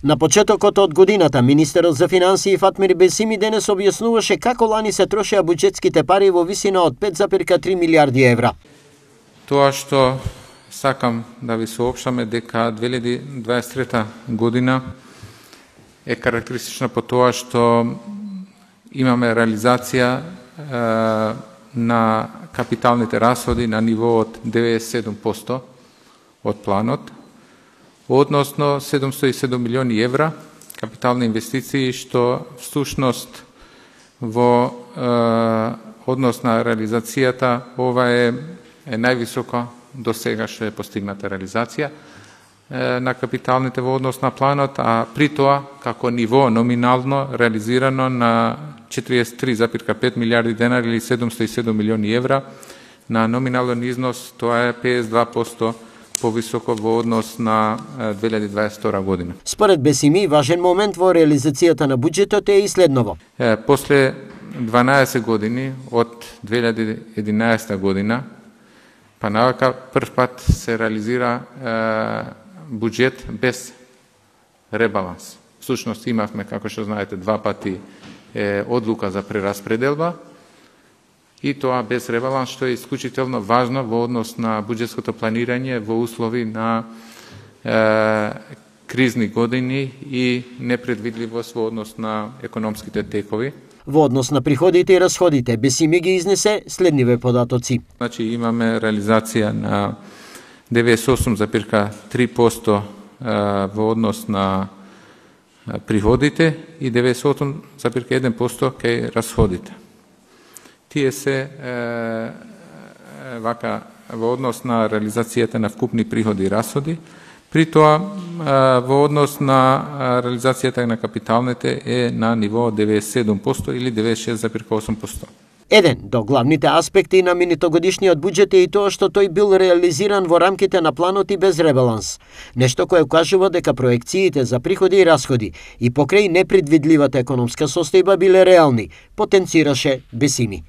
На почетокот од годината, министерот за финансии Фатмир Бесими денес објаснуваше како лани се трошеа буџетските пари во висина од 5,3 милиарди евра. Тоа што сакам да ви соопштаме дека 2023 година е карактеристична по тоа што имаме реализација на капиталните расходи на ниво од 97% од планот, односно 707 милиони евра капитални инвестиции, што всушност во однос на реализацијата ова е највисока до сега што е постигната реализација на капиталните во однос на планот, а при тоа како ниво номинално реализирано на 43,5 милиарди денари или 707 милиони евра, на номинален износ тоа е 52% повисоко во однос на 2022 година. Според Бесими, важен момент во реализацијата на буџетот е и следново. После 12 години од 2011 година, па навака прв пат се реализира буџет без ребаланс. Всушност имавме, како што знаете, два пати одлука за прераспределба и тоа без ребаланс, што е исклучително важно во однос на буџетското планирање во услови на кризни години и непредвидливост во однос на економските текови. Во однос на приходите и расходите, Бесими ги изнесе следниве податоци. Значи имаме реализација на 98,3% во однос на приходите и 98,1% кај расходите. Тие се вака во однос на реализацијата на вкупни приходи и расходи, при тоа во однос на реализацијата на капиталните е на ниво 97% или 96,8%. Еден до главните аспекти на минитогодишниот буџет е и тоа што тој бил реализиран во рамките на планот и без ребаланс. Нешто кое укажува дека проекциите за приходи и расходи и покрај непредвидливата економска состојба биле реални, потенцираше Бесими.